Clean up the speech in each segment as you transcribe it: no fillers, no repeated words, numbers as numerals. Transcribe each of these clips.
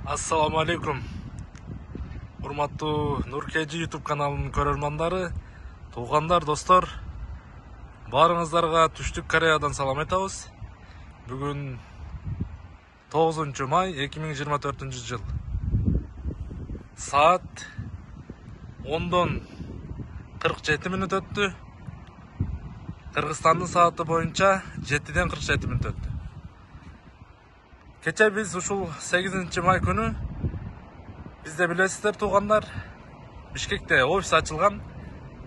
Ассаламу алейкум. Урматтуу Нуркежи YouTube каналынын көрөрмандары, туугандар, достор, баарыңыздарга Түштүк Кореядан салам айтабыз. Бүгүн 9 май 2024 жыл. Саат 10:47 өттү. Кыргызстандын сааты боюнча 7:47 өттү. Кече биз ушул 8 май күнү бизде билесиздер туугандар, Бишкекте офис ачылган,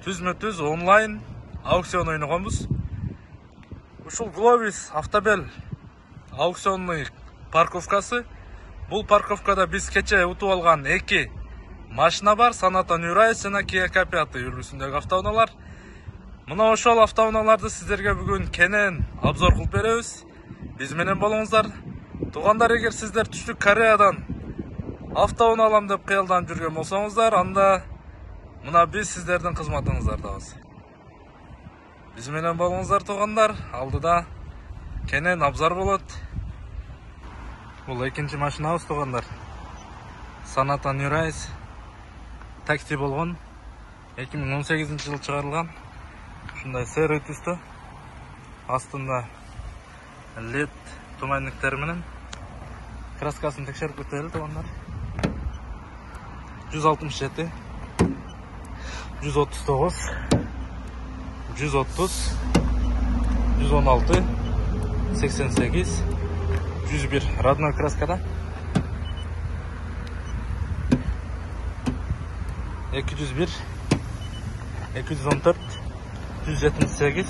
түзмө-түз онлайн аукцион ойногонбуз. Ушул Globis Автобел аукционный парковкасы. Бул парковкада биз кече утуп алган 2 машина бар, Sonata New Rise жана Kia K5 үлгүсүндөгү автоунаалар. Мына ошол автоунааларды сиздерге бүгүн кенен обзор кылып беребиз. Биз менен болуңуздар. Туугандар, эгер сиздер Түштүк Кореядан автоунаа алам деп кыялданып жүргөн болсоңуздар, анда мына биз сиздердин кызматыңыздардабыз. Биз менен болуңуздар туугандар. Алдыда кенен обзор болот. Бул экинчи машинабыз туугандар. Sonata New Rise такси болгон. 2018 жылы чыгарылган. Ушундай серый түстө. Астында LED туманниктер менен. Краскасын текшерип өтөлү туугандар. 167, 139, 130, 116, 88, 101 родной краскада. 201, 214, 178,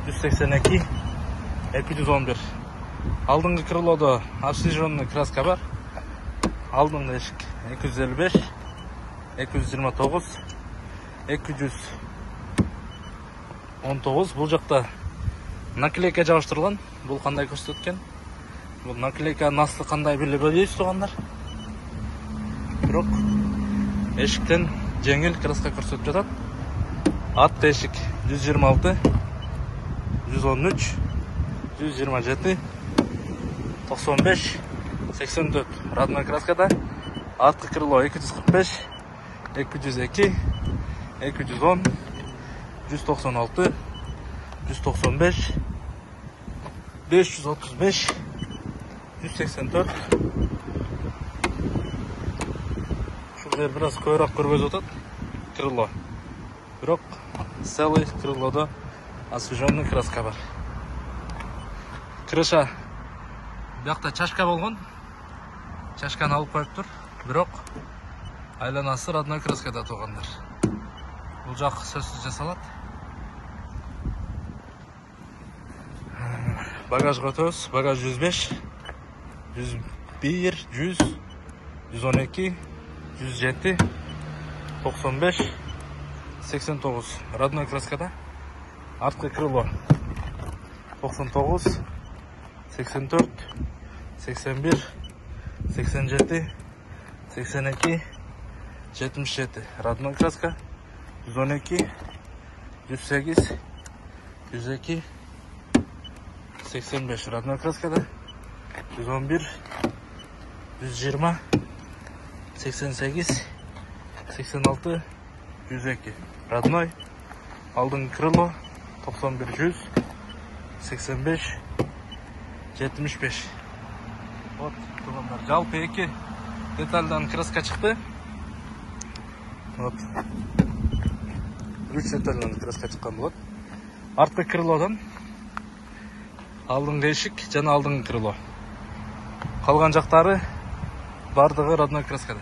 182, 211. Алдыңғы крылода обслуживанный краска бар. Алдыңғы эшик 255, 229, 219. Бул жакта наклейка жабыштырылган. Бул кандай көрсөткөн? Бул наклейка наслы кандай билбейбиз туугандар. Бирок эшиктен жеңил краска көрсөтүп жатат. Ат эшик 126, 113, 127, 95, 84 родной краскада. Арткы крыло 245, 202, 210, 196, 195, 535, 184. Ушул бир аз көбүрөөк көргөзүп атат крыло. Бирок целый крылодо освеженный краска бар. Крыша бuyakta чашка болгон. Чашканы алып коюптур. Бирок айланасы родной краскада туугандар. Бул жак сөзсүз жасалат. Багажга өтөбүз. Багаж 105, 101, 100, 112, 107, 95, 89 родной краскада. Арткы крыло 99, 84, 81, 87, 82, 77 родной краска. 112, 108, 102, 85 родной краскада. 111, 120, 88, 86, 102 родной. Алдыңғы крыло 91, 100, 85, 75. Вот, туугандар, жалпы 2 детальдан краска чыкты. Вот. 3 детальдан краска чыккан болот. Арткы крылодан алдыңғы эшик жана алдыңғы крыло. Калган жактары бардыгы родной краскада.